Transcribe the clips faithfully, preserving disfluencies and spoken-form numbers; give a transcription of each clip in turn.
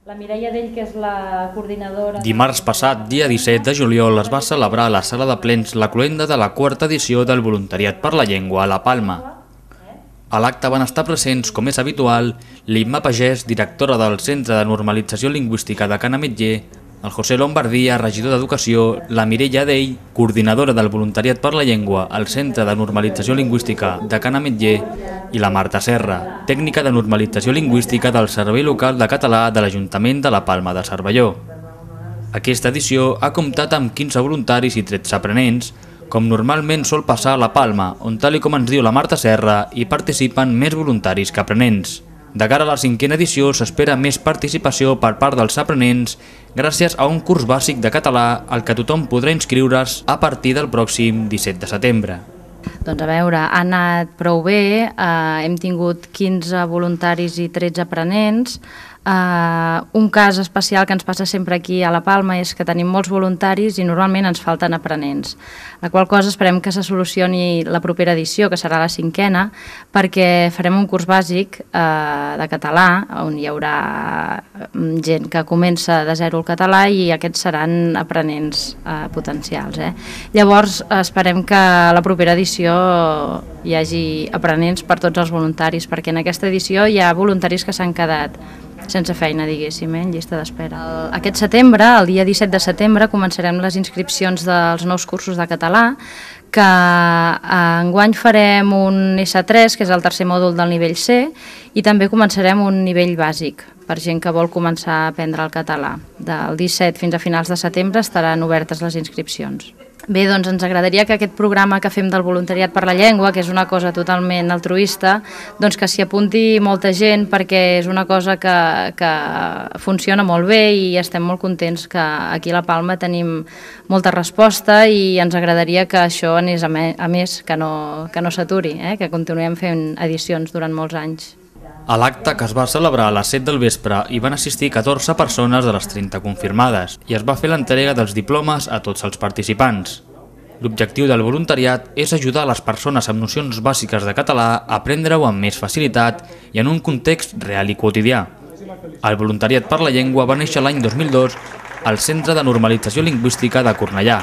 La Mireia Dell, que és la coordinadora... Dimarts passat, dia disset de juliol, es va celebrar a la sala de plens la cloenda de la quarta edició del Voluntariat per la Llengua a La Palma. A l'acte van estar presents, com és habitual, l'Imma Pagès, directora del Centre de Normalització Lingüística de Can Ametller, el José Lombardia, regidor d'Educació, la Mireia Dell, coordinadora del Voluntariat per la Llengua al Centre de Normalització Lingüística de Can Ametller, i la Marta Serra, tècnica de normalització lingüística del Servei Local de Català de l'Ajuntament de la Palma de Cervelló. Aquesta edició ha comptat amb quinze voluntaris i tretze aprenents, com normalment sol passar a la Palma, on, tal i com ens diu la Marta Serra, hi participen més voluntaris que aprenents. De cara a la cinquena edició s'espera més participació per part dels aprenents gràcies a un curs bàsic de català al que tothom podrà inscriure's a partir del pròxim disset de setembre. Doncs a veure, ha anat prou bé, eh, hem tingut quinze voluntaris i tretze aprenents. Eh, un cas especial que ens passa sempre aquí a la Palma és que tenim molts voluntaris i normalment ens falten aprenents, la qual cosa esperem que se solucioni la propera edició, que serà la cinquena, perquè farem un curs bàsic eh, de català, on hi haurà gent que comença de zero el català i aquests seran aprenents eh, potencials. Eh? Llavors esperem que a la propera edició hi hagi aprenents per tots els voluntaris, perquè en aquesta edició hi ha voluntaris que s'han quedat sense feina, diguéssim, eh, en llista d'espera. Aquest setembre, el dia disset de setembre, començarem les inscripcions dels nous cursos de català, que enguany farem un essa tres, que és el tercer mòdul del nivell ce, i també començarem un nivell bàsic, per gent que vol començar a aprendre el català. Del disset fins a finals de setembre estaran obertes les inscripcions. Bé, doncs ens agradaria que aquest programa que fem del Voluntariat per la Llengua, que és una cosa totalment altruista, doncs que s'hi apunti molta gent, perquè és una cosa que, que funciona molt bé i estem molt contents que aquí a la Palma tenim molta resposta i ens agradaria que això anés a més, que no, que no s'aturi, eh? Que continuem fent edicions durant molts anys. A l'acte, que es va celebrar a les set del vespre, hi van assistir catorze persones de les trenta confirmades i es va fer l'entrega dels diplomes a tots els participants. L'objectiu del voluntariat és ajudar les persones amb nocions bàsiques de català a aprendre-ho amb més facilitat i en un context real i quotidià. El Voluntariat per la Llengua va néixer l'any dos mil dos al Centre de Normalització Lingüística de Cornellà.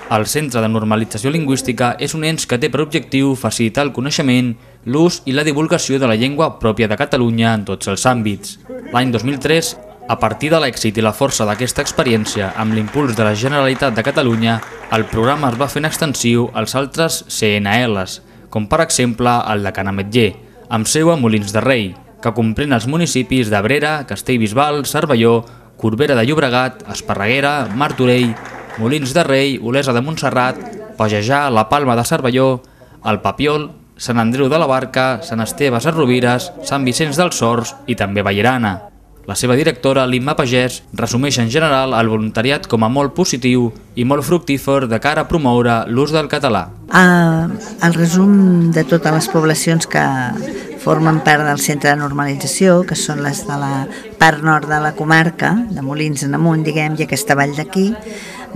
El Centre de Normalització Lingüística és un ens que té per objectiu facilitar el coneixement, l'ús i la divulgació de la llengua pròpia de Catalunya en tots els àmbits. L'any dos mil tres, a partir de l'èxit i la força d'aquesta experiència amb l'impuls de la Generalitat de Catalunya, el programa es va fent extensiu als altres ce ene eles, com per exemple el de Can Ametller, amb seu a Molins de Rei, que comprèn els municipis d'Abrera, Castellbisbal, Cervelló, Corbera de Llobregat, Esparreguera, Martorell, Molins de Rei, Olesa de Montserrat, Pajejar, la Palma de Cervelló, el Papiol, Sant Andreu de la Barca, Sant Esteve Sesrovires, Sant Vicenç dels Horts i també Vallirana. La seva directora, l'Imma Pagès, resumeix en general el voluntariat com a molt positiu i molt fructífer de cara a promoure l'ús del català. Uh, el resum de totes les poblacions que formen part del centre de normalització, que són les de la part nord de la comarca, de Molins en amunt, diguem, i aquesta vall d'aquí,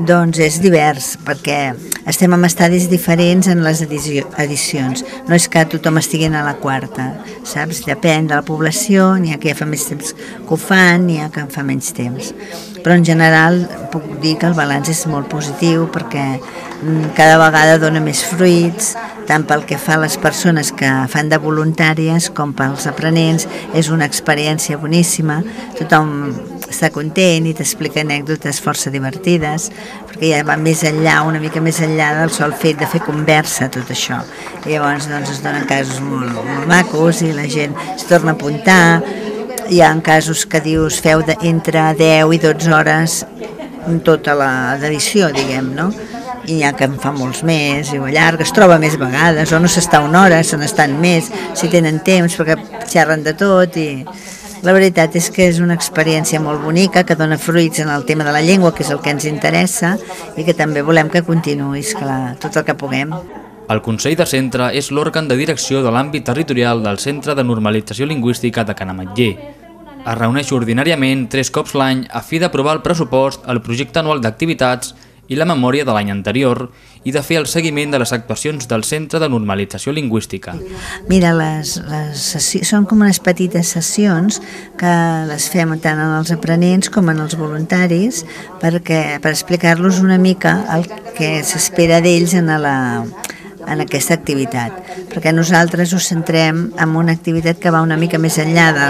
doncs és divers, perquè estem en estadis diferents en les edicions. No és que tothom estigui a la quarta, saps? Depèn de la població, n'hi ha que ja fa més temps que ho fan, n'hi ha que en fa menys temps. Però en general puc dir que el balanç és molt positiu perquè cada vegada dona més fruits, tant pel que fa a les persones que fan de voluntàries com pels aprenents. És una experiència boníssima, tothom està content i t'explica anècdotes força divertides, perquè ja va més enllà, una mica més enllà del sol fet de fer conversa, tot això. I llavors doncs, es donen casos molt, molt macos i la gent es torna a apuntar. Hi ha casos que dius feu de, entre deu i dotze hores en tota l'edició, diguem, no? I n'hi ha que en fa molts més, i ho allarga, es troba més vegades, o no s'està una hora, se n'estan més, si tenen temps, perquè xerren de tot, i la veritat és que és una experiència molt bonica, que dona fruits en el tema de la llengua, que és el que ens interessa, i que també volem que continuï, esclar, tot el que puguem. El Consell de Centre és l'òrgan de direcció de l'àmbit territorial del Centre de Normalització Lingüística de Can Ametller. Es reuneix ordinàriament tres cops l'any a fi d'aprovar el pressupost, el projecte anual d'activitats i la memòria de l'any anterior i de fer el seguiment de les actuacions del Centre de Normalització Lingüística. Mira, les, les sessions, són com unes petites sessions que les fem tant en els aprenents com en els voluntaris perquè, per explicar-los una mica el que s'espera d'ells en la en aquesta activitat, perquè nosaltres ho centrem en una activitat que va una mica més enllà de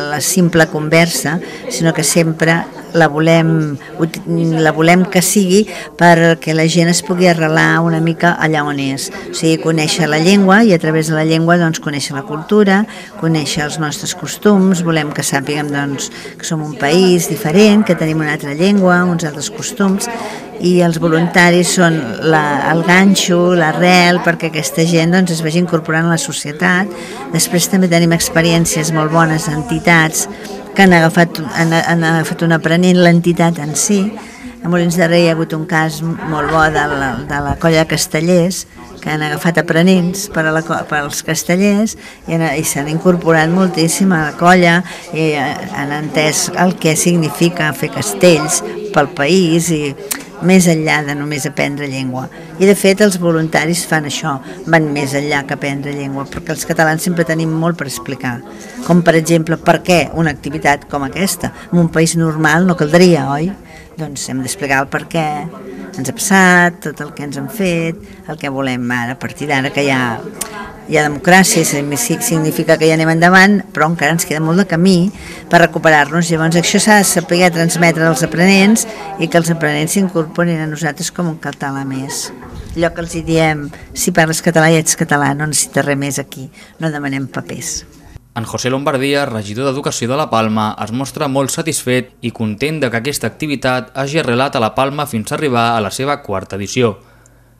la simple conversa, sinó que sempre la volem, la volem que sigui perquè la gent es pugui arrelar una mica allà on és, o sigui, conèixer la llengua i a través de la llengua doncs, conèixer la cultura, conèixer els nostres costums, volem que sàpiguem doncs, que som un país diferent, que tenim una altra llengua, uns altres costums, i els voluntaris són la, el ganxo, l'arrel, perquè aquesta gent doncs, es vagi incorporant a la societat. Després també tenim experiències molt bones d'entitats que han agafat, han, han agafat un aprenent l'entitat en si. A Molins de Rei hi ha hagut un cas molt bo de la, de la colla de castellers, que han agafat aprenents per, a la, per als castellers i, i s'han incorporat moltíssim a la colla i han entès el que significa fer castells pel país i més enllà de només aprendre llengua. I de fet els voluntaris fan això, van més enllà que aprendre llengua, perquè els catalans sempre tenim molt per explicar. Com per exemple, per què una activitat com aquesta? En un país normal no caldria, oi? Doncs hem d'explicar el per què ens ha passat, tot el que ens han fet, el que volem ara, a partir d'ara que hi ha, hi ha democràcia, significa que ja anem endavant, però encara ens queda molt de camí per recuperar-nos. Llavors això s'ha de saber transmetre als aprenents i que els aprenents s'incorporin a nosaltres com un català més. Allò que els diem, si parles català i ets català, no necessites res més aquí, no demanem papers. En José Lombardia, regidor d'Educació de la Palma, es mostra molt satisfet i content de que aquesta activitat hagi arrelat a la Palma fins a arribar a la seva quarta edició.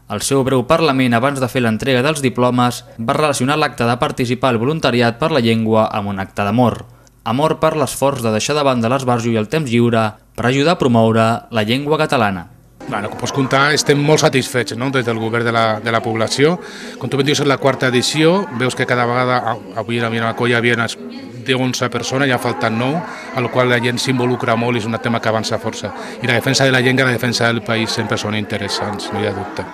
Al seu breu parlament abans de fer l'entrega dels diplomes va relacionar l'acte de participar al voluntariat per la llengua amb un acte d'amor. Amor per l'esforç de deixar de banda l'esbarjo i el temps lliure per ajudar a promoure la llengua catalana. Bueno, com pots comptar, estem molt satisfets, no?, des del govern de la, de la població. Com tu ben dius, és la quarta edició, veus que cada vegada, avui a la colla hi havia unes deu onze persones, ja falten nou, a la qual la gent s'involucra molt i és un tema que avança força. I la defensa de la llengua i la defensa del país sempre són interessants, no hi ha dubte.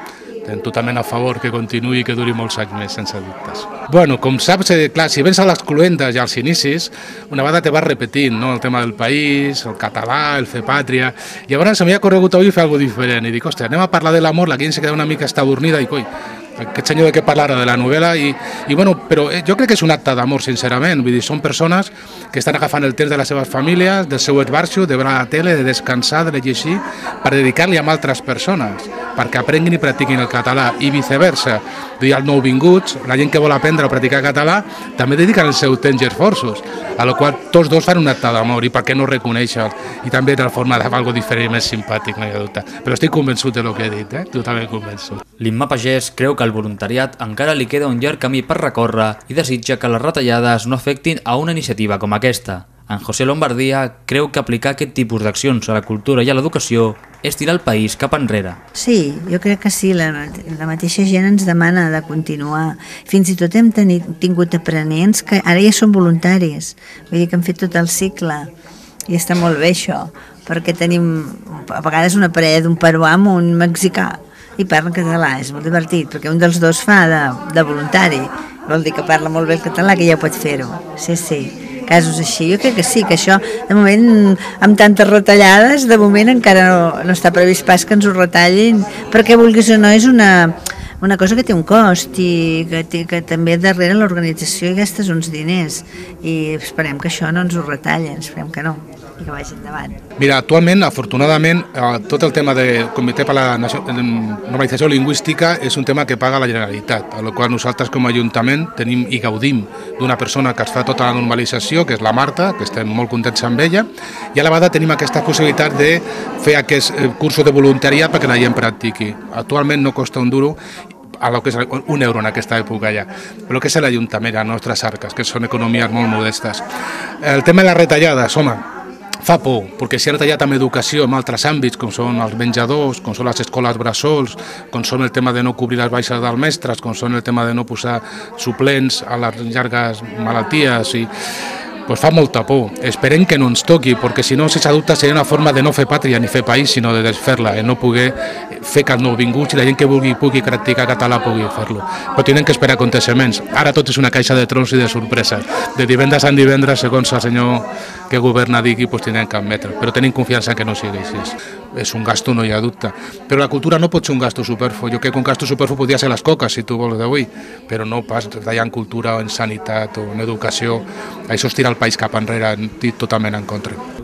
Estem totalment a favor que continuï i que duri molts anys més, sense dubtes. Bueno, com saps, eh, clar, si vens a les cluendes i als inicis, una vegada te vas repetint, no?, el tema del país, el català, el fer pàtria. Llavors m'hi ha corregut avui fer alguna cosa diferent i dic, ostres, anem a parlar de l'amor, la gent se queda una mica estabornida i coi, aquest senyor de què parlar de la novel·la i, i bueno, però jo crec que és un acte d'amor, sincerament, vull dir, són persones que estan agafant el temps de les seves famílies, del seu esbarjo, de veure la tele, de descansar, de llegir, per dedicar-li a altres persones, perquè aprenguin i practiquin el català i viceversa. Vull dir, els nouvinguts, la gent que vol aprendre o practicar català, també dediquen el seu temps i esforços, a la qual tots dos fan un acte d'amor i per què no reconèixer i també de la forma de fer alguna cosa diferent i més simpàtic, no hi ha dubte. Però estic convençut del que he dit, eh? Totalment convençut. L'Imma Pagès creu que al voluntariat encara li queda un llarg camí per recórrer i desitja que les retallades no afectin a una iniciativa com aquesta. En José Lombardia creu que aplicar aquest tipus d'accions a la cultura i a l'educació és tirar el país cap enrere. Sí, jo crec que sí, la, la mateixa gent ens demana de continuar. Fins i tot hem tenit, tingut aprenents que ara ja són voluntaris, vull dir que han fet tot el cicle i està molt bé això, perquè tenim a vegades una parella d'un peruà amb un mexicà i parlen català, és molt divertit, perquè un dels dos fa de, de voluntari, vol dir que parla molt bé el català, que ja pot fer-ho. Sí, sí, casos així. Jo crec que sí, que això, de moment, amb tantes retallades, de moment encara no, no està previst pas que ens ho retallin, perquè vulguis o no, és una, una cosa que té un cost i que, té, que també darrere l'organització hi gastes uns diners i esperem que això no ens ho retallen, esperem que no, i que vagi endavant. Mira, actualment, afortunadament, tot el tema del Comitè per la Normalització Lingüística és un tema que paga la Generalitat, a la qual nosaltres com a Ajuntament tenim i gaudim d'una persona que es fa tota la normalització, que és la Marta, que estem molt contents amb ella, i a la vegada tenim aquesta possibilitat de fer aquests cursos de voluntariat perquè la gent practiqui. Actualment no costa un duro, a lo que és un euro en aquesta època ja, però que és l'Ajuntament, les nostres arques, que són economies molt modestes. El tema de les retallades, home, fa por, perquè s'ha retallat amb educació en altres àmbits, com són els menjadors, com són les escoles bressols, com són el tema de no cobrir les baixes dels mestres, com són el tema de no posar suplents a les llargues malalties. I pues fa molta por. Esperem que no ens toqui, perquè si no, sense dubte, seria una forma de no fer pàtria ni fer país, sinó de desfer-la, de no poder fer que els nouvinguts i la gent que vulgui pugui practicar català pugui fer-lo. Però tenen que esperar aconteixements. Ara tot és una caixa de trons i de sorpreses. De divendres a divendres, segons el senyor que governa digui, pues tenen que admetre. Però tenim confiança que no sigui així. És un gasto, no hi ha dubte. Però la cultura no pot ser un gasto superflu. Jo crec que un gasto superflu podria ser les coques, si tu vols d'avui, però no pas tallar en cultura o en sanitat o en educació. Això és tirar el país cap enrere, totalment en contra.